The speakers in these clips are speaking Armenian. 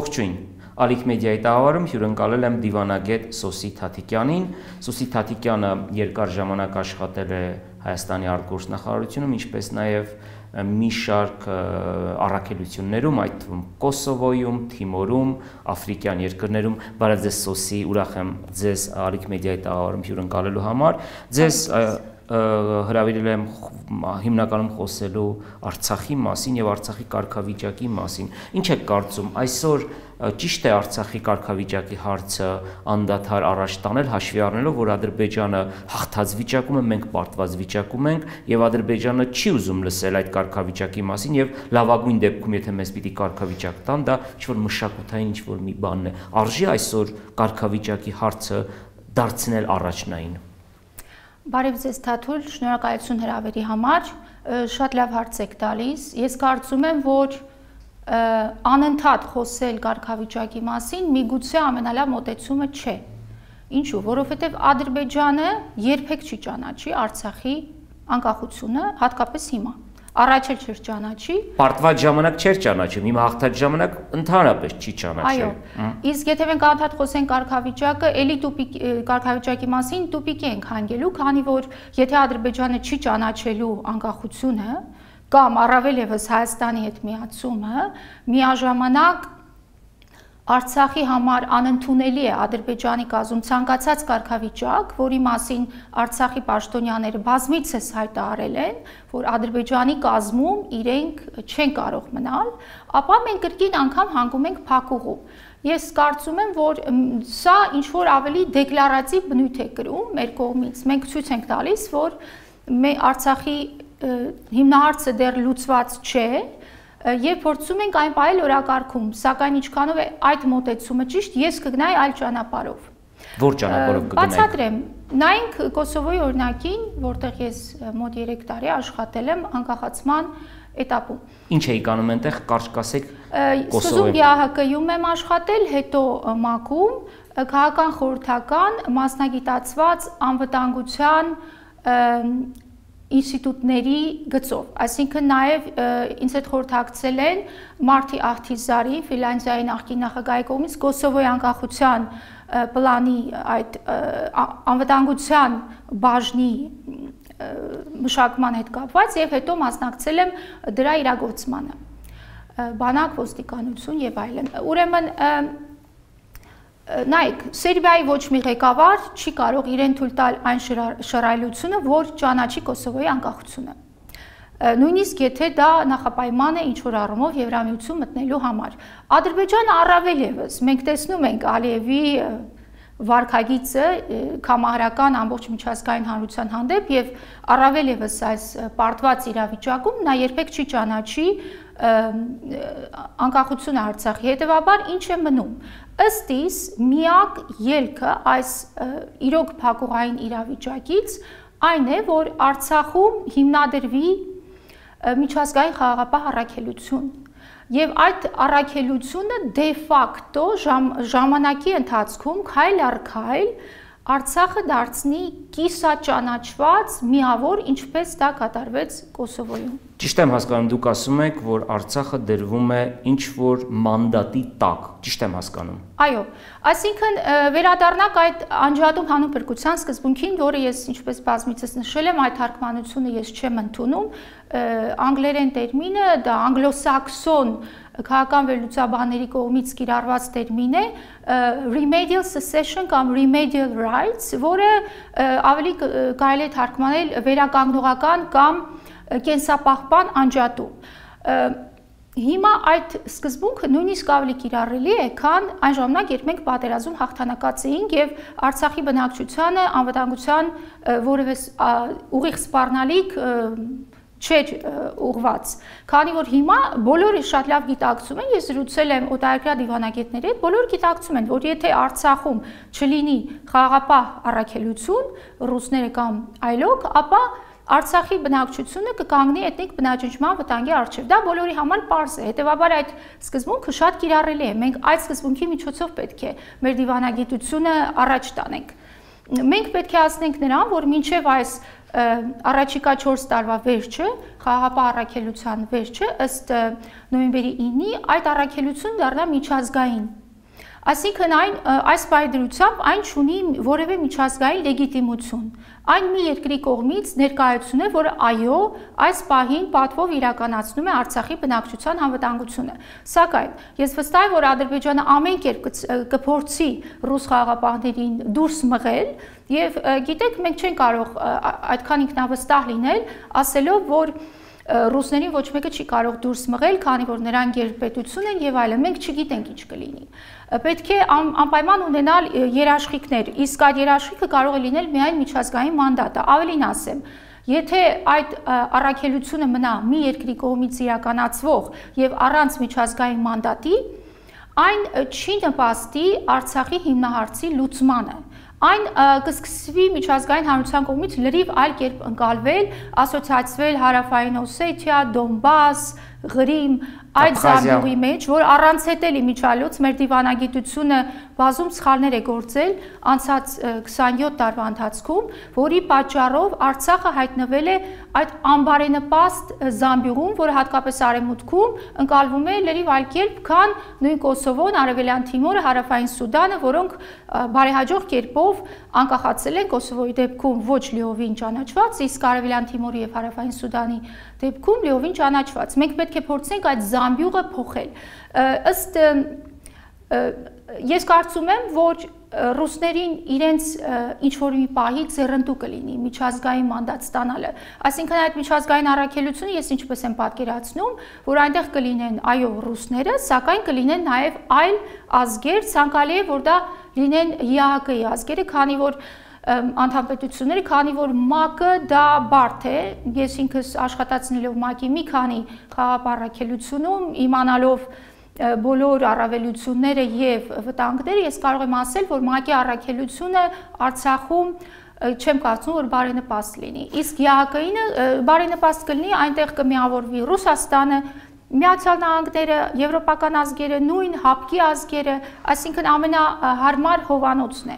Ողջույն, Ալիք մեդիայի տաղավարում հյուրընկալել եմ դիվանագետ Սոսի Թաթիկյանին։ Սոսի Թաթիկյանը երկար ժամանակ աշխատել է Հայաստանի արտգործնախարարությունում, ինչպես նաև մի շարք առաքելություններում, այդ թվում Կոսովոյում, Թիմորում, Աֆրիկյան երկրներում։ Բարև ձեզ Սոսի, ուրախ եմ ձեզ Ալիք մեդիայի տաղավարում հյուրընկալելու համար։ Ձեզ հրավիրել եմ հիմնականում խոսելու Արցախի մասին եւ Արցախի կարգավիճակի մասին։ Ինչ եք կարծում, այսօր ճիշտ է Արցախի կարգավիճակի հարցը անդադար առաջ տանել, հաշվի առնելով, որ Ադրբեջանը հաղթած վիճակում է, մենք պարտված վիճակում ենք եւ Ադրբեջանը չի ուզում լսել այդ կարգավիճակի մասին եւ լավագույն դեպքում, եթե մեզ պիտի կարգավիճակ տան, դա ինչ-որ մշակութային ինչ-որ մի բանն է։ Արժի այսօր կարգավիճակի հարցը դարձնել առաջնային։ Բարև ձեզ Թաթուլ, շնորհակալություն հրավերի համար, շատ լավ հարց եք տալիս։ Ես կարծում եմ, որ անընդհատ խոսել կարգավիճակի մասին միգուցե ամենալավ մոտեցումը չէ։ Ինչու՞, որովհետև Ադրբեջանը երբեք չի ճանաչի Արցախի անկախությունը, հատկապես հիմա։ Առաջ էլ չէր ճանաչի։ Պարտված ժամանակ չէր ճանաչում, հիմա հաղթած ժամանակ ընդհանրապես չի ճանաչել։ Այո։ Իսկ եթե մենք անդադար խոսենք կարգավիճակը, էլի կարգավիճակի մասին տուպիկի ենք հանգելու, քանի որ եթե Ադրբեջանը չի ճանաչելու անկախությունը կամ առավել ևս Հայաստանի հետ միացումը, միաժամանակ Արցախի համար անընդունելի է Ադրբեջանի կազմում ցանկացած կարգավիճակ, որի մասին Արցախի պաշտոնյաները բազմիցս հայտարարել են, որ Ադրբեջանի կազմում իրենք չեն կարող մնալ, ապա մենք կրկին անգամ հանգում ենք փակուղու։ Ես կարծում եմ, որ սա ինչ-որ ավելի դեկլարատիվ բնույթ է կրում մեր կողմից։ Մենք ցույց ենք տալիս, որ Արցախի հիմնահարցը դեռ լուծված չէ, Եվ փորձում ենք այն պահել օրակարգում, սակայն ինչքանով է այդ մոտեցումը ճիշտ, ես կգնայի այլ ճանապարհով։ Որ ճանապարհով կգնայիք։ Բացատրեմ, նայենք Կոսովոյի օրինակին, որտեղ ես մոտ 3 տարի աշխատել եմ անկախացման էտապում։ Ինչ էիք անում այնտեղ, կարճ կասեք Կոսովոյում։ ՀՀԿ-ում եմ աշխատել, հետո ՄԱԿ-ում, քաղաքական խորհրդական, մասնագիտացված անվտանգության ինստիտուտների գծով, այսինքն նաև ինձ հետ խորհրդակցել են Մարտի Աղթիզարի, Ֆինլանդիայի նախկին նախագահի կողմից Կոսովոյի անկախության պլանի այդ անվտանգության բաժնի մշակման հետ կապված եւ հետո մասնակցել եմ դրա իրագործմանը, բանակ, ոստիկանություն եւ այլն։ Ուրեմն նայեք, Սերբիայի ոչ մի ղեկավար չի կարող իրեն թույլ տալ այն շռայլությունը, որ ճանաչի Կոսովոյի անկախությունը։ Նույնիսկ եթե դա նախապայման է ինչ-որ առումով Եվրամիություն մտնելու համար։ Ադրբեջանը առավել ևս, մենք տեսնում ենք Ալիևի վարքագիծը կամահարական ամբողջ միջազգային հանրության հանդեպ եւ առավել ևս այս պարտված իրավիճակում նա երբեք չի ճանաչի անկախությունը Արցախի, հետևաբար ինչ է մնում։ Ըստ իս միակ ելքը այս իրոք փակուղային իրավիճակից այն է, որ Արցախում հիմնադրվի միջազգային խաղաղապահ առաքելություն եւ այդ առաքելությունը դե ֆակտո ժամանակի ընթացքում քայլ առ քայլ Արցախը դարձնի կիսաճանաչված միավոր, ինչպես դա կատարվեց Կոսովոյում։ Ճիշտ եմ հասկանում, դուք ասում եք, որ Արցախը դրվում է ինչ-որ մանդատի տակ, ճիշտ եմ հասկանում։ Այո, այսինքն վերադառնանք այդ անջատում հանուն փրկության սկզբունքին, որը ես ինչպես բազմիցս նշել եմ, այդ թարգմանությունը ես չեմ ընդունում, անգլերեն տերմինը դա անգլոսաքսոն քաղաքական վերլուծաբանների կողմից կիրառված տերմին է remedial secession կամ remedial rights, որը ավելի կարելի է թարգմանել վերականգնողական կամ կենսապահպան անջատում։ Հիմա այդ սկզբունքը նույնիսկ ավելի կիրառելի է, քան այն ժամանակ, երբ մենք պատերազմում հաղթանակած էինք եւ Արցախի բնակչությանը անվտանգության որևէ ուղիղ սպառնալիք չէր ուղված, քանի որ հիմա բոլորը շատ լավ գիտակցում են, ես զրուցել եմ օտարերկրյա դիվանագետների հետ, բոլորը գիտակցում են, որ եթե Արցախում չլինի խաղաղապահ առաքելություն, ռուսները կամ այլոք, ապա Արցախի բնակչությունը կկանգնի էթնիկ բնաջնջման վտանգի առջև։ Դա բոլորի համար պարզ է, հետևաբար այդ սկզբունքը շատ կիրառելի է, մենք այդ սկզբունքի միջոցով պետք է մեր դիվանագիտությունը առաջ տանենք։ մենք պետք է հասնենք նրան, որ մինչև այս առաջիկա 4 տարվա վերջը, խաղաղապահ առաքելության վերջը, ըստ նոյեմբերի 9-ի, այդ առաքելությունը դառնա միջազգային։ Այսինքն այս պայդրությամբ այն չունի որևէ միջազգային լեգիտիմություն։ Այն մի երկրի կողմից ներկայացում է, որ այո, այս պահին պատվով իրականացնում է Արցախի բնակչության անվտանգությունը։ Սակայն ես վստահ եմ, որ Ադրբեջանը ամեն կերպ կփորձի ռուս խաղաղապահներին դուրս մղել, եւ գիտեք, մենք չենք կարող այդքան ինքնավստահ լինել, ասելով, որ ռուսներին ոչ մեկը չի կարող դուրս մղել, քանի որ նրանք գերպետություն են եւ այլն, մենք չգիտենք ինչ կլինի։ Պետք է անպայման ունենալ երաշխիքներ, իսկ այդ երաշխիքը կարող է լինել միայն միջազգային մանդատը։ Ավելին ասեմ, եթե այդ առաքելությունը մնա մի երկրի կողմից իրականացվող եւ առանց միջազգային մանդատի, այն չի նպաստի Արցախի հիմնահարցի լուծմանը։ Այն կսկսվի միջազգային հանրության կողմից լրիվ այլ կերպ ընկալվել, ասոցիացվել Հարավային Օսեթիա, Դոնբաս, Ղրիմ, այդ զամբյուղի մեջ, որ առանց հետելի միջալուց մեր դիվանագիտությունը բազում սխալներ է գործել անցած 27 տարվա ընթացքում, որի պատճառով Արցախը հայտնվել է այդ անբարենպաստ զամբյուղում, որը հատկապես արևմուտքում ընկալվում է լրիվ այլ կերպ, քան նույն Կոսովոն, Արևելյան Թիմորը, Հարավային Սուդանը, որոնք բարեհաջող կերպով անկախացել են Կոսովոյի դեպքում ոչ լիովին ճանաչված, իսկ Արևելյան Թիմորի եւ Հարավային Սուդանի դեպքում լիովին ճանաչված։ Մենք պետք է փորձենք այդ զամբյուղը փոխել։ Ըստ ես կարծում եմ, որ ռուսներին իրենց ինչ-որ մի պահի ձեռնտու կլինի միջազգային մանդատ ստանալը։ Այսինքն այդ միջազգային առաքելությունը ես ինչպես եմ պատկերացնում, որ այնտեղ կլինեն այո ռուսները, սակայն կլինեն նաև այլ ազգեր, ցանկալի է, որ դա լինեն ԵԱՀԿ-ի ազգերը, քանի որ անդամպետությունները, քանի որ ՄԱԿ-ը դա բարդ է, ես ինքս աշխատացնելով ՄԱԿ-ի մի քանի խաղաղապահ առաքելությունում, իմանալով բոլոր առավելությունները եւ վտանգները, ես կարող եմ ասել, որ ՄԱԿ-ի առաքելությունը Արցախում չեմ կարծում, որ բարենպաստ լինի։ Իսկ ԵԱՀԿ-ին բարենպաստ կլինի, այնտեղ կմիավորվի Ռուսաստանը, Միացյալ Նահանգները, եվրոպական ազգերը, նույն ՀԱՊԿ-ի ազգերը, այսինքն ամենահարմար հովանոցն է։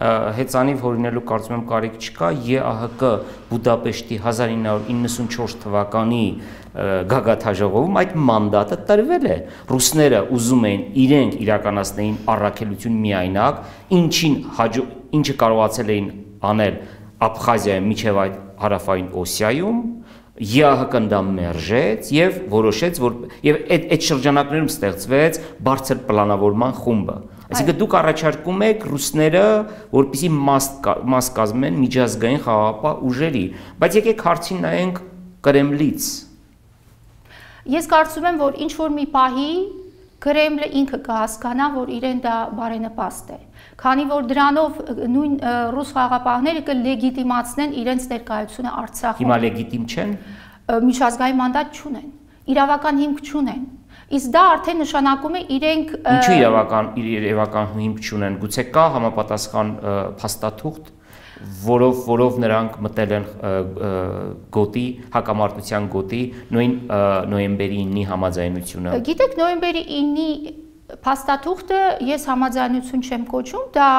Հեծանիվ հորինելու կարծում եմ կարիք չկա, ԵԱՀԿ Բուդապեշտի 1994 թվականի գագաթաժողովում այդ մանդատը տրվել է։ Ռուսները ուզում էին իրենք իրականացնեին առաքելություն միայնակ, ինչը կարողացել էին անել Աբխազիայում միջև այդ հարավային Օսիայում, ԵԱՀԿ-ն դա մերժեց եւ որոշեց, որ եւ այդ շրջանակներում ստեղծվեց բարձր պլանավորման խումբը։ Այսինքն դուք առաջարկում եք ռուսները, որպեսզի մաս կազմեն միջազգային խաղաղապահ ուժերի, բայց եկեք հարցին նայենք Կրեմլից։ Ես կարծում եմ, որ ինչ որ մի պահի Կրեմլը ինքը կհասկանա, որ իրեն դա բարենպաստ է, քանի որ դրանով նույն ռուս խաղաղապահները կլեգիտիմացնեն իրենց ներկայությունը Արցախում։ Հիմա լեգիտիմ չեն։ Միջազգային մանդատ չունեն, իրավական հիմք չունեն։ Իսկ դա արդեն նշանակում է իրենք Ինչու իրավական հիմք չունեն։ Գուցե կա համապատասխան փաստաթուղթ, որով նրանք մտել են գոտի, հակամարտության գոտի, նույն նոյեմբերի 9-ի համաձայնությունը։ Գիտեք, նոյեմբերի 9-ի փաստաթուղթը ես համաձայնություն չեմ կոչում, դա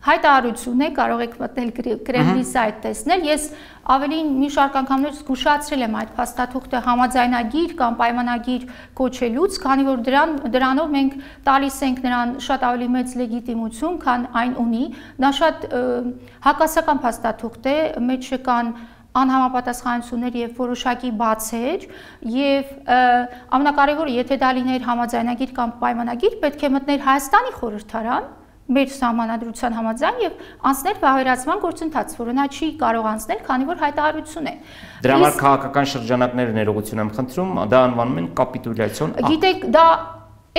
հայտարարություն է, կարող եք մտնել Կրեմլի սայթ տեսնել։ Ես ավելին մի շարք անգամներ զգուշացրել եմ այդ փաստաթուղթը համաձայնագիր կամ պայմանագիր կոչելուց, քանի որ դրանով մենք տալիս ենք նրան շատ ավելի մեծ լեգիտիմություն, քան այն ունի։ Նա շատ հակասական փաստաթուղթ է, մեջ կան անհամապատասխանություններ եւ որոշակի բացեր, եւ ամենակարևորը, եթե դա լիներ համաձայնագիր կամ պայմանագիր, պետք է մտներ Հայաստանի խորհրդարան մեր սահմանադրության համաձայն եւ անցնել վավերացման գործընթաց, որը նա չի կարող անցնել, քանի որ հայտարարություն է։ Դրա համար քաղաքական շրջանակները ներողություն եմ խնդրում, դա անվանում են կապիտուլյացիոն ակտ։ Գիտեք, դա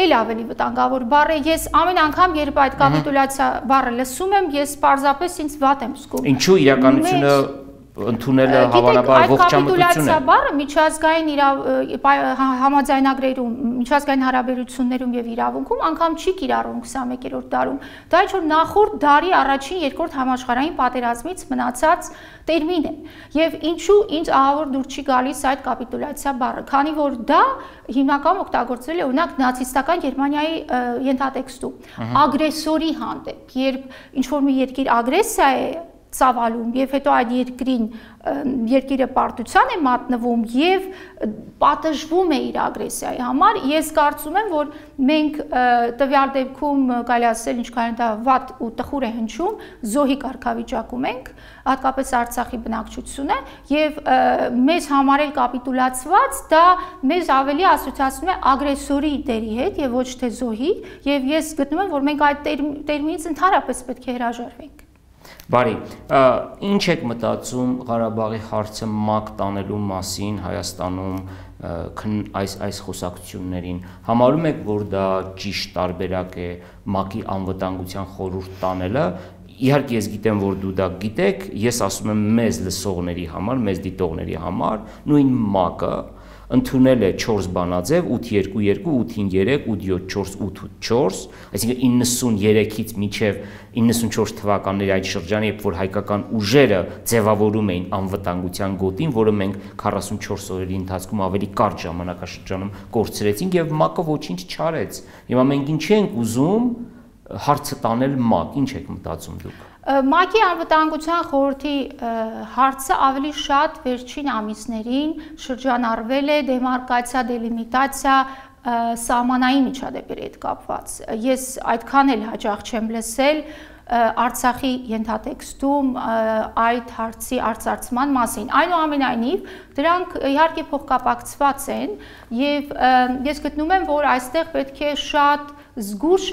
էլ ավելի վտանգավոր բառ է։ Ես ամեն անգամ, երբ այդ կապիտուլյացիա բառը լսում եմ, ես պարզապես ինձ վատ եմ զգում։ Ինչու իրականությունը ընդունելը հավանաբար ողջամտություն է։ Այդ կապիտուլյացիա բառը միջազգային համաձայնագրերում, միջազգային հարաբերություններում եւ իրավունքում անգամ չի կիրառվում 21-րդ դարում։ Դա ինչ որ նախորդ դարի առաջին, երկրորդ համաշխարհային պատերազմից մնացած տերմին է։ Եվ ինչու ինձ ահավոր դուր չի գալիս այդ կապիտուլյացիա բառը, քանի որ դա հիմնականում օգտագործվել է օրինակ նացիստական Գերմանիայի ենթատեքստում ագրեսորի հանդեպ, երբ ինչ որ մի երկիր ագրեսիա է ծավալում եւ հետո այդ երկիրը պարտության է մատնվում եւ պատժվում է իր ագրեսիայի համար, ես կարծում եմ, որ մենք տվյալ դեպքում կարելի ասել ինչքան դա վատ ու տխուր է հնչում, զոհի կարգավիճակում ենք, հատկապես Արցախի բնակչությունը եւ մեզ համարել կապիտուլացված, դա մեզ ավելի ասոցիացնում է ագրեսորի դերի հետ եւ ոչ թե զոհի, եւ ես գտնում եմ, որ մենք այդ տերմինից ընդհանրապես պետք է հրաժարվենք։ Բարի, ինչ եք մտածում Ղարաբաղի հարցը մակ տանելու մասին Հայաստանում այս խոսակցություններին, համարում եք, որ դա ճիշտ տարբերակ է մակի անվտանգության խորհուրդ տանելը, իհարկե ես գիտեմ, որ դու դա գիտեք, ես ասում եմ մեզ լսողների համար, մեզ դիտողների համար, նույն մակը ընդունել է 4 բանաձև 8-2-2, 8-5-3, 8-7-4, 8-8-4, այսինքն 93-ից մինչև 94 թվականների այդ շրջանը, երբ որ հայկական ուժերը ձևավորում էին անվտանգության գոտին, որը մենք 44 օրերի ընթացքում ավելի կարճ ժամանակաշրջանում կորցրեցինք եւ ՄԱԿ-ը ոչինչ չարեց։ Հիմա մենք ինչի ենք ուզում հարցը տանել ՄԱԿ, ինչ եք մտածում դուք։ ՄԱԿ-ի անվտանգության խորհրդի հարցը ավելի շատ վերջին ամիսներին շրջանառվել է դեմարկացիա, դելիմիտացիա, սահմանային միջադեպերի հետ կապված։ Ես այդքան էլ հաճախ չեմ լսել Արցախի ենթատեքստում այդ հարցի արծարծման մասին։ Այնուամենայնիվ, դրանք իհարկե փոխկապակցված են եւ ես գտնում եմ, որ այստեղ պետք է շատ զգուշ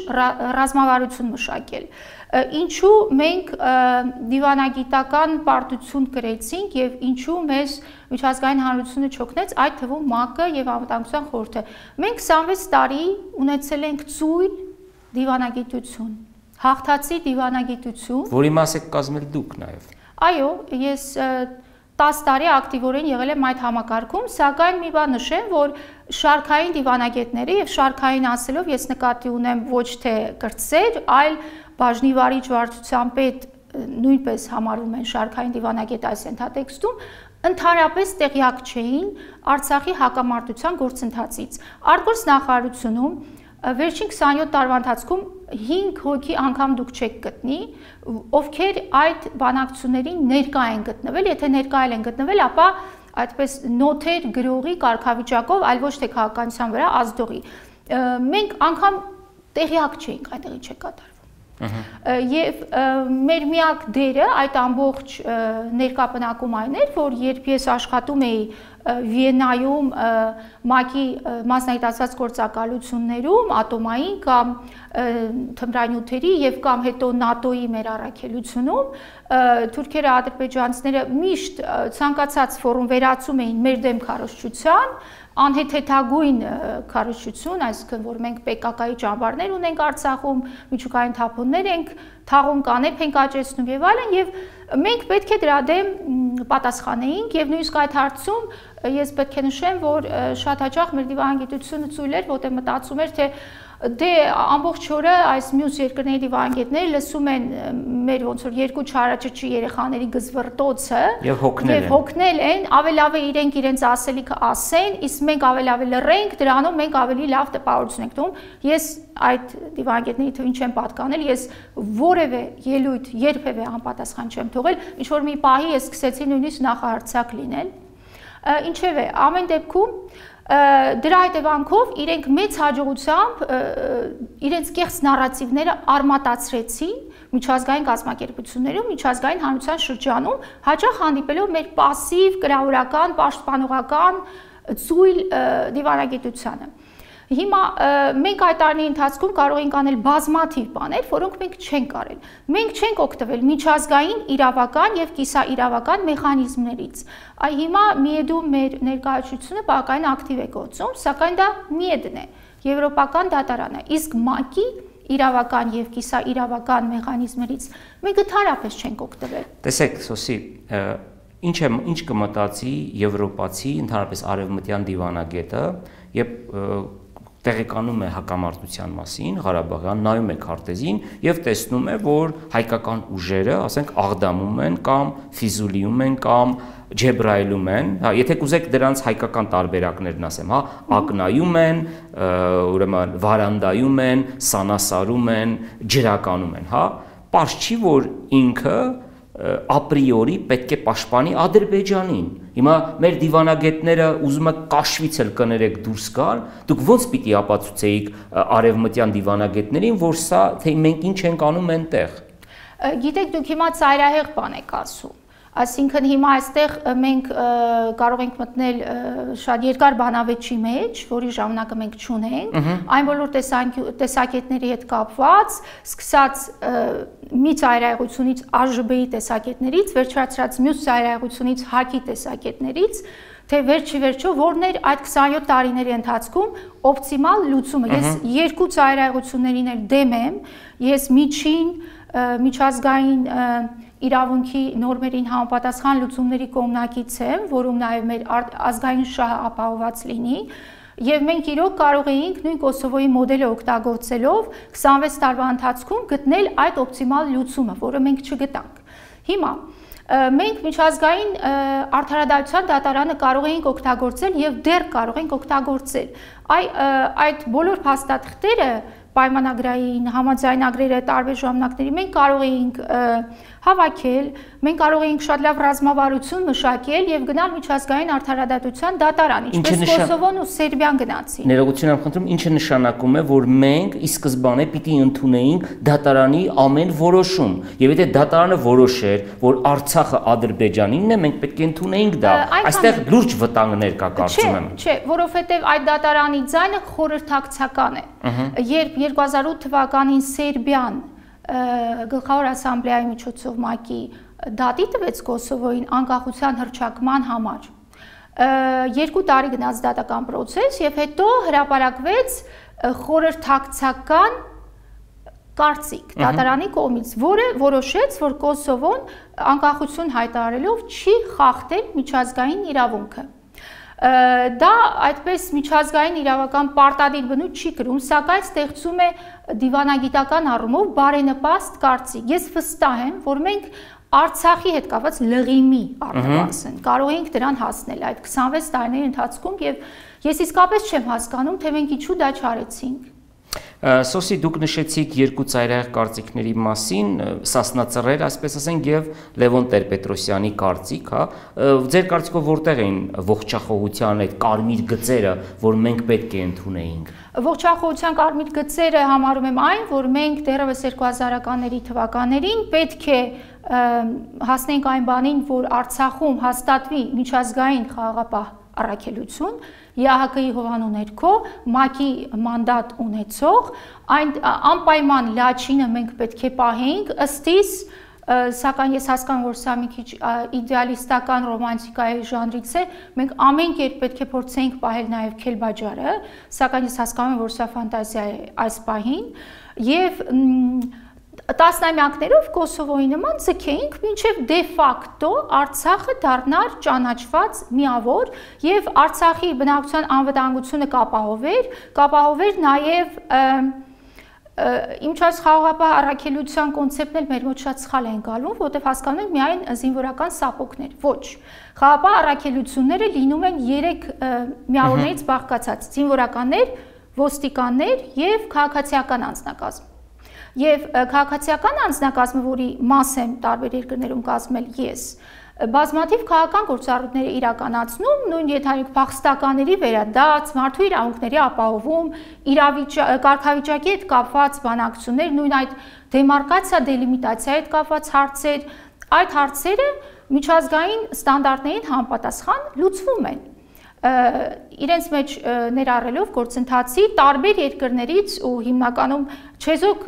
ռազմավարություն մշակել։ Ինչու մենք դիվանագիտական պարտություն կրեցինք եւ ինչու մեզ միջազգային հանրությունը չօգնեց, այդ թվում ՄԱԿ-ը եւ անվտանգության խորհուրդը։ Մենք 26 տարի ունեցել ենք ծույլ դիվանագիտություն, հաղթածի դիվանագիտություն, որի մաս եք կազմել դուք նաեւ։ Այո, ես 10 տարի ակտիվորեն եղել եմ այդ համակարգում, սակայն մի բան նշեմ, որ շարքային դիվանագետները եւ շարքային ասելով ես նկատի ունեմ ոչ թե կրտսեր, այլ բաժնի վարիչ վարչության պետ նույնպես համարվում են շարքային դիվանագետ այս ենթատեքստում, ընդհանրապես տեղյակ չէին Արցախի հակամարտության գործընթացից։ Արտգործ նախարարությունում վերջին 27 տարվա ընթացքում 5 հոգի անգամ դուք չեք գտնի, ովքեր այդ բանակցություններին ներկա են գտնվել, եթե ներկա են գտնվել, ապա այդպես նոթեր գրողի կարգավիճակով, այլ ոչ թե քաղաքականության վրա ազդողի։ Մենք անգամ տեղյակ չենք այդտեղի չէ կատարվում։ Եվ մեր միակ դերը այդ ամբողջ ներկապնակում այն էր, որ երբ ես աշխատում էի Վիեննայում ՄԱԿ-ի մասնագիտացված գործակալություններում, ատոմային կամ թմրանյութերի եւ կամ հետո ՆԱՏՕ-ի մեր առաքելությունում, թուրքերը, ադրբեջանցիները միշտ ցանկացած ֆորում վերացում էին մեր դեմ քարոզչության, անհեթեթագույն քարոզչություն, այսինքն որ մենք ՊԿԿ-ի ճամբարներ ունենք Արցախում, միջուկային թափոններ ենք թաղում, կանեփ ենք աճեցնում եւ այլն, եւ մենք պետք է դրա դեմ պատասխանեինք եւ նույնիսկ այդ հարցում ես պետք է նշեմ, որ շատ հաճախ մեր դիվանագիտությունը ծույլ էր, որտեղ մտածում էր, թե դե ամբողջ օրը այս մյուս երկրների դիվանագետները լսում են մեր ոնց որ երկու չարաճճի երեխաների գզվռտոցը եւ հոգնել են, ավելավ է իրենք իրենց ասելիքը ասեն, իսկ մենք ավելավ լռենք, դրանով մենք ավելի լավ տպավորություն ենք տում։ Ես այդ դիվանագետների թվին չեմ պատկանել, ես որևէ ելույթ երբևէ անպատասխան չեմ թողել, ինչ որ մի պահի ես սկսեցի նույնիսկ նախահարցակ լինել։ Ինչևէ, ամեն դեպքում դրա հետևանքով իրենք մեծ հաջողությամբ իրենց կեղծ նարատիվները արմատացրեցին միջազգային կազմակերպություններում, միջազգային հանրության շրջանում, հաճախ հանդիպելով մեր պասիվ, կրավորական, պաշտպանողական ծույլ դիվանագիտությանը։ Հիմա մենք այդ տարիների ընթացքում կարող ենք անել բազմաթիվ բաներ, որոնք մենք չենք արել։ Մենք չենք օգտվել միջազգային իրավական եւ կիսաիրավական մեխանիզմներից։ Այ հիմա միեդում մեր ներկայացությունը բավականին ակտիվ է գործում, սակայն դա միեդն է, եվրոպական դատարանը, իսկ ՄԱԿ-ի իրավական եւ կիսաիրավական մեխանիզմներից մենք ընդհանրապես չենք օգտվել։ Տեսեք, Սոսի, ինչ կմտածի եվրոպացի, ընդհանրապես արևմտյան դիվանագետը, երբ տեղեկանում է հակամարտության մասին, Ղարաբաղյան, նայում է քարտեզին եւ տեսնում է, որ հայկական ուժերը, ասենք, Աղդամում են կամ Ֆիզուլիում են կամ Ջեբրայիլում են, հա, եթե կուզեք դրանց հայկական տարբերակներն ասեմ, հա, Ակնայում են, ուրեմն Վարանդայում են, Սանասարում են, Ջրականում են, հա, պարզ չի, որ ինքը ապրիորի պետք է պաշտպանի Ադրբեջանին։ Հիմա մեր դիվանագետները ուզում եք կաշվից էլ կներեք դուրս գալ, դուք ոնց պիտի ապացուցեիք արևմտյան դիվանագետներին, որ սա թե մենք ինչ ենք անում այնտեղ։ Գիտեք, դուք հիմա ծայրահեղ բան եք ասում։ Այսինքն հիմա այստեղ մենք կարող ենք մտնել շատ երկար բանավեճի մեջ, որի ժամանակը մենք չունենք, այն բոլոր տեսակետների հետ կապված, սկսած մի ծայրահեղությունից ԱԺԲ-ի տեսակետներից, վերջացրած մյուս ծայրահեղությունից ՀԱԿ-ի տեսակետներից, թե վերջիվերջո որն էր այդ 27 տարիների ընթացքում օպտիմալ լուծումը։ Ես երկու ծայրահեղություններին էլ դեմ եմ, ես միջազգային իրավունքի նորմերին համապատասխան լուծումների կողմնակից եմ, որում նաև մեր ազգային շահը ապահովված լինի, եւ մենք իրոք կարող էինք նույն Կոսովոյի մոդելը օգտագործելով 26 տարվա ընթացքում գտնել այդ օպտիմալ լուծումը, որը մենք չգտանք։ Հիմա մենք միջազգային արդարադատության դատարանը կարող էինք օգտագործել եւ դեռ կարող ենք օգտագործել։ Այդ բոլոր փաստաթղթերը պայմանագրային համաձայնագրերը տարբեր ժամանակների մենք կարող էինք հավաքել, մենք կարող էինք շատ լավ ռազմավարություն մշակել եւ գնալ միջազգային արդարադատության դատարան, ինչպես Կոսովոն ու Սերբիան գնացին։ Ներողություն եմ խնդրում, ինչը նշանակում է, որ մենք ի սկզբանե պիտի ընդունեինք դատարանի ամեն որոշում, եւ եթե դատարանը որոշեր, որ Արցախը Ադրբեջանինն է, մենք պետք է ընդունեինք դա։ Այստեղ լուրջ վտանգներ կա, կարծում եմ։ Չէ, որովհետեւ այդ դատարանի ձայնը խորհրդակցական է։ Երբ 2008 թվականին Սերբիան Գլխավոր ասամբլեայի միջոցով ՄԱԿ-ի դատի տվեց Կոսովոյին անկախության հռչակման համար, 2 տարի գնաց դատական պրոցես եւ հետո հրապարակվեց խորհրդակցական կարծիք դատարանի կողմից, որը որոշեց, որ Կոսովոն անկախություն հայտարարելով չի խախտել միջազգային իրավունքը։ Դա այդպես միջազգային իրավական պարտադիր բնույթ չի կրում, սակայն ստեղծում է դիվանագիտական առումով բարենպաստ կարծիք։ Ես վստահ եմ, որ մենք Արցախի հետ կապված լղիմի առնվազն կարող ենք դրան հասնել այդ 26 տարիների ընթացքում եւ ես իսկապես չեմ հասկանում, թե մենք ինչու դա չարեցինք։ Սոսի, դուք նշեցիք երկու ծայրահեղ կարծիքների մասին, Սասնա-Ծռեր, այսպես ասենք, եւ Լևոն Տեր-Պետրոսյանի կարծիք, հա, ձեր կարծիքով որտեղ են ողջախոհության այդ կարմիր գծերը, որ մենք պետք է ընդունեինք։ Ողջախոհության կարմիր գծերը համարում եմ այն, որ մենք դեռևս 2000-ականների թվականներին պետք է հասնենք այն բանին, որ Արցախում հաստատվի միջազգային խաղաղապահ առաքելություն, ԵԱՀԿ-ի հովանու ներքո ՄԱԿ-ի մանդատ ունեցող, այն անպայման լաչինը մենք պետք է պահենք, ըստիս, սակայն ես հասկանում, որ սա մի քիչ իդեալիստական ռոմանտիկայի ժանրից է, մենք ամեն կերպ պետք է փորձենք պահել նաև Քելբաջարը, սակայն ես հասկանում եմ, որ սա ֆանտազիա է այս պահին, եւ տասնամյակներով Կոսովոյի նման ձգեինք մինչև դե ֆակտո Արցախը դառնար ճանաչված միավոր եւ Արցախի բնակչության անվտանգությունը կապահովեր նաեւ Իմչած խաղաղապահ առաքելության կոնցեպտն էլ մեր մոտ շատ սխալ է ընկալվում, որտեղ հասկանում ենք միայն զինվորական սապոկներ։ Ոչ, խաղաղապահ առաքելությունները լինում են 3 միավորներից բաղկացած՝ զինվորականներ, ոստիկաններ եւ քաղաքացիական անձնակազմ։ Եվ քաղաքացիական անձնակազմը, որի մաս եմ տարբեր երկրներում կազմել ես, բազմաթիվ քաղաքական գործառույթներ իրականացնում, նույն ենթադրենք փախստականների վերադարձ, մարդու իրավունքների ապահովում, կարգավիճակի հետ կապված բանակցություններ, նույն այդ դեմարկացիա, դելիմիտացիայի հետ կապված հարցեր, այդ հարցերը միջազգային ստանդարտներին համապատասխան լուծվում են։ Իրենց մեջ ներառելով գործընթացի տարբեր երկրներից ու հիմնականում չեզոք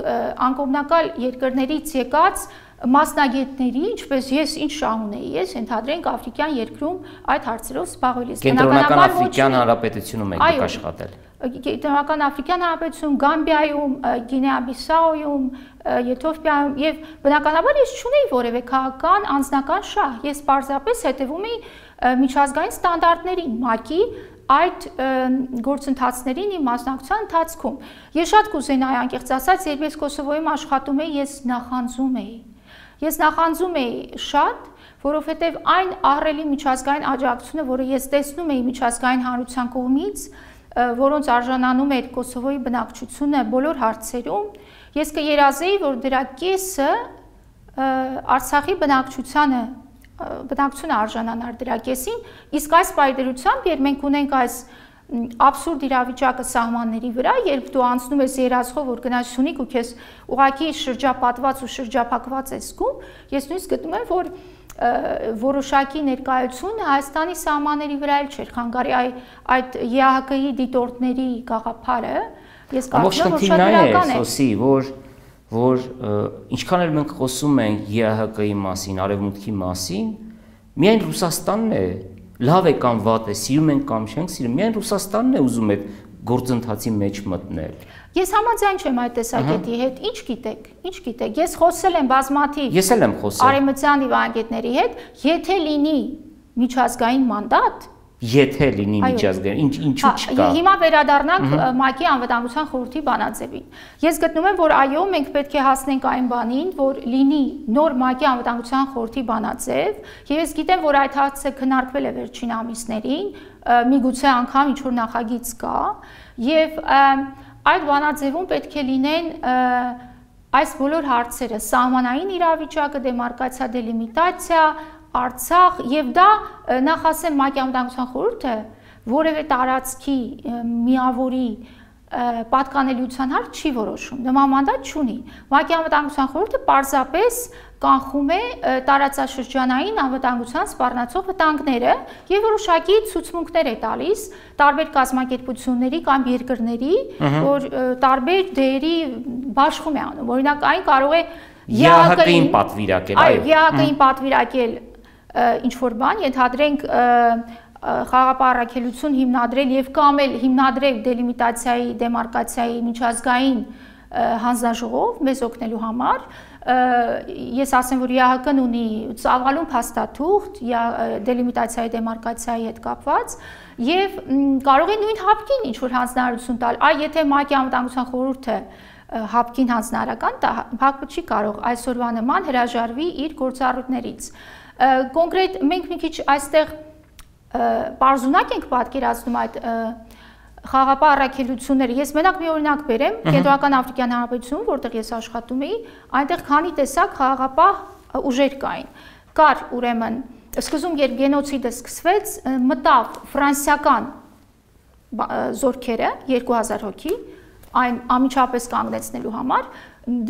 անկողմնակալ երկրներից եկած մասնագետների, ինչպես ես ինչ շահ ունեի, ես ենթադրենք Աֆրիկյան երկրում այդ հարցերով զբաղվել ես։ Կենտրոնական Աֆրիկյան Հանրապետությունում եք աշխատել։ Դեմոկրատական Աֆրիկյան Հանրապետությունում, Գամբիայում, Գինեա-Բիսաուում, Եթովպիայում եւ բնականաբար ես չունեի որևէ քաղաքական անձնական շահ։ Ես պարզապես հետևում էի միջազգային ստանդարտներին, ՄԱԿ-ի այդ գործընթացներին իմ մասնակցության ընթացքում։ Ես շատ կուզենայի անկեղծ ասած, երբ ես Կոսովոյում աշխատում էի, ես նախանձում էի։ Ես նախանձում էի շատ, որովհետև այն ահռելի միջազգային աջակցությունը, որը ես տեսնում էի միջազգային հանրության կողմից, որոնց արժանանում էր Կոսովոյի բնակչությունը բոլոր հարցերում, ես կերազեի, որ դրա կեսը Արցախի բնակչությունը արժանանար դրա կեսին, իսկ այս պայդրությամբ, երբ մենք ունենք այս աբսուրդ իրավիճակը սահմանների վրա, երբ դու անցնում ես երազխով, որ գնաս Սյունիք ու քեզ ուղղակի շրջապատված ու շրջափակված ես զգում, ես նույնիսկ գտնում եմ, որ որոշակի ներկայությունը Հայաստանի սահմանների վրա էլ չէր խանգարի այդ ԵԱՀԿ-ի դիտորդների գաղափարը, ես կարծում եմ, որ շատ դրական է, որ ինչքան էլ մենք խոսում ենք ԵԱՀԿ-ի մասին, Արևմուտքի մասին, միայն Ռուսաստանն է, լավ է կամ վատ է, սիրում ենք կամ չենք սիրում, միայն Ռուսաստանն է ուզում այդ գործընթացի մեջ մտնել։ Ես համաձայն չեմ այդ տեսակետի հետ, ինչ գիտեք, ես խոսել եմ բազմաթիվ արևմտյան դիվանագետների հետ, եթե լինի միջազգային մանդատ, եթե լինի միջազգային, ինչու չկա։ Հիմա վերադառնանք ՄԱԿ-ի անվտանգության խորհրդի բանաձևին։ Ես գտնում եմ, որ այո, մենք պետք է հասնենք այն բանին, որ լինի նոր ՄԱԿ-ի անվտանգության խորհրդի բանաձև, եւ ես գիտեմ, որ այդ հարցը քննարկվել է վերջին ամիսներին, միգուցե անգամ ինչ-որ նախագիծ կա, եւ այդ բանաձևում պետք է լինեն այս բոլոր հարցերը՝ սահմանային իրավիճակը, դեմարկացիա, դելիմիտացիա, Արցախ, եւ դա նախ ասեմ ՄԱԿ-ի անվտանգության խորհուրդը որևէ տարածքի միավորի պատկանելիության հարց չի որոշում, նման մանդատ չունի։ ՄԱԿ-ի անվտանգության խորհուրդը պարզապես կանխում է տարածաշրջանային անվտանգության սպառնացող վտանգները եւ որոշակի ցուցմունքներ է տալիս տարբեր կազմակերպությունների կամ երկրների, որ տարբեր դերի բաշխում է անում։ Օրինակ այն կարող է ԵԱՀԿ-ին պատվիրակել, այո, ԵԱՀԿ-ին պատվիրակել ինչ-որ բան, ենթադրենք խաղաղապահ առաքելություն հիմնադրել եւ կամ էլ հիմնադրել դելիմիտացիայի, դեմարկացիայի միջազգային հանձնաժողով մեզ օգնելու համար, ես ասեմ, որ ԵԱՀԿ-ն ունի ծավալուն փաստաթուղթ դելիմիտացիայի, դեմարկացիայի հետ կապված եւ կարող է նույն հապկին ինչ-որ հանձնարարություն տալ, եթե ՄԱԿ-ի անվտանգության խորհուրդը հապկին հանձնարարական տա, ՀԱԿ-ը չի կարող այսօրվա նման հրաժարվի իր գործառույթներից։ Կոնկրետ մենք մի քիչ այստեղ պարզունակ ենք պատկերացնում այդ խաղաղապահ առաքելությունները։ Ես մենակ մի օրինակ բերեմ, Կենտրոնական Աֆրիկյան Հանրապետությունում, որտեղ ես աշխատում էի, այնտեղ քանի տեսակ խաղաղապահ ուժեր կային։ Կար ուրեմն սկզբում, երբ գենոցիդը սկսվեց, մտավ ֆրանսիական զորքերը 2000 հոգի, այն անմիջապես կանգնեցնելու համար,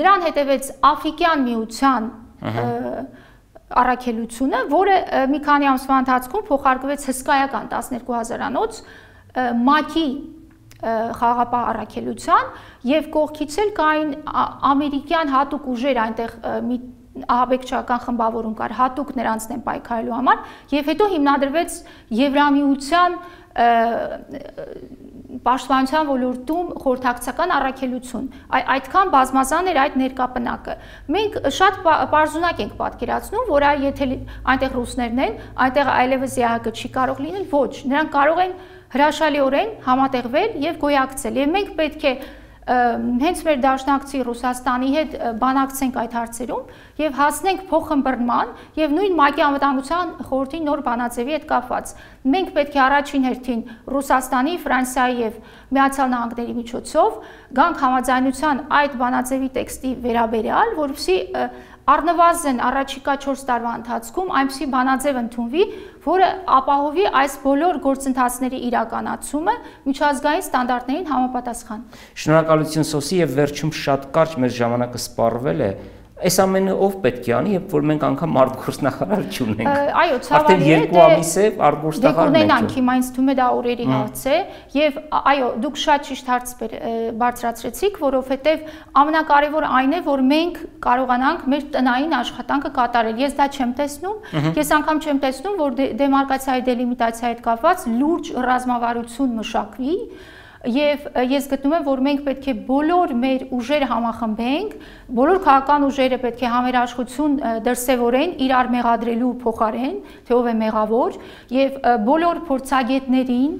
դրան հետևեց Աֆրիկյան միության առաքելությունը, որը մի քանի ամսվա ընթացքում փոխարկվեց հսկայական 12000-անոց ՄԱԿ-ի խաղաղապահ առաքելության եւ կողքից էլ կային ամերիկյան հատուկ ուժեր, այնտեղ մի ահաբեկչական խմբավորում կար, հատուկ նրանց դեմ պայքարելու համար եւ հետո հիմնադրվեց Եվրամիության պաշտպանության ոլորտում խորհրդակցական առաքելություն։ Այդքան բազմազան էր այդ ներկապնակը։ Մենք շատ պարզունակ ենք պատկերացնում, որ եթե այնտեղ ռուսներն են, այնտեղ այլևս ԵԱՀԿ չի կարող լինել, ոչ, նրանք կարող են հրաշալիորեն համատեղվել եւ գոյակցել։ Եվ մենք պետք է հենց մեր դաշնակցի Ռուսաստանի հետ բանակցենք այդ հարցերում եւ հասնենք փոխըմբռնման եւ նույն ՄԱԿ-ի անվտանգության խորհրդի նոր բանաձևի հետ կապված։ Մենք պետք է առաջին հերթին Ռուսաստանի, Ֆրանսիայի եւ Միացյալ Նահանգների միջոցով գանք համաձայնության այդ բանաձևի տեքստի վերաբերյալ, որովհետեւ առնվազն առաջիկա 4 տարվա ընթացքում այնպիսի բանաձև ընդունվի, որը ապահովի այս բոլոր գործընթացների իրականացումը միջազգային ստանդարտներին համապատասխան։ Շնորհակալություն Սոսի, եւ վերջում շատ կարճ մեր ժամանակը սպառվել է։ Այս ամենը ով պետք է անի, երբ որ մենք անգամ արտգործնախարար չունենք։ Այո, ցավալի է, արդեն 2 ամիս է արտգործնախարարն ենք։ Ունենանք հիմա ինձ թվում է դա օրերի հարց է, եւ այո, դուք շատ ճիշտ հարց բարձրացրեցիք, որովհետեւ ամենակարևորը այն է, որ մենք կարողանանք մեր տնային աշխատանքը կատարել։ Ես դա չեմ տեսնում, ես անգամ չեմ տեսնում, որ դեմարկացիայի, դելիմիտացիայի հետ կապված լուրջ ռազմավարություն մշակվի, եւ ես գտնում եմ, որ մենք պետք է բոլոր մեր ուժերը համախմբենք, բոլոր քաղաքական ուժերը պետք է համերաշխություն դրսևորեն իրար մեղադրելու փոխարեն, թե ով է մեղավոր, եւ բոլոր փորձագետներին,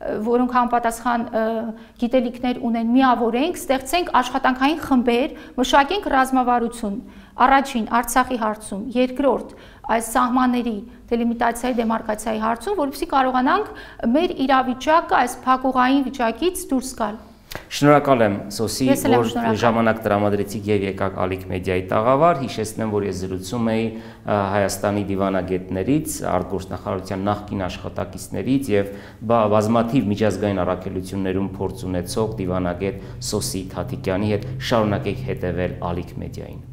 որոնք համապատասխան գիտելիքներ ունեն, միավորենք, ստեղծենք աշխատանքային խմբեր, մշակենք ռազմավարություն, առաջին Արցախի հարցում, երկրորդ այս սահմանների դելիմիտացիայի դեմարկացիայի հարցում, որովհետեւ կարողանանք մեր իրավիճակը այս փակուղային վիճակից դուրս գալ։ Շնորհակալ եմ Սոսի, որ ժամանակ տրամադրեցիք եւ եկաք Ալիք մեդիայի տաղավար։ Հիշեցնեմ, որ ես զրուցում էի Հայաստանի դիվանագետներից, արտգործնախարարության նախկին աշխատակիցներից եւ բազմաթիվ միջազգային առաքելություններում փորձ ունեցող դիվանագետ Սոսի Թաթիկյանի հետ։ Շարունակեք հետեւել Ալիք մեդիային։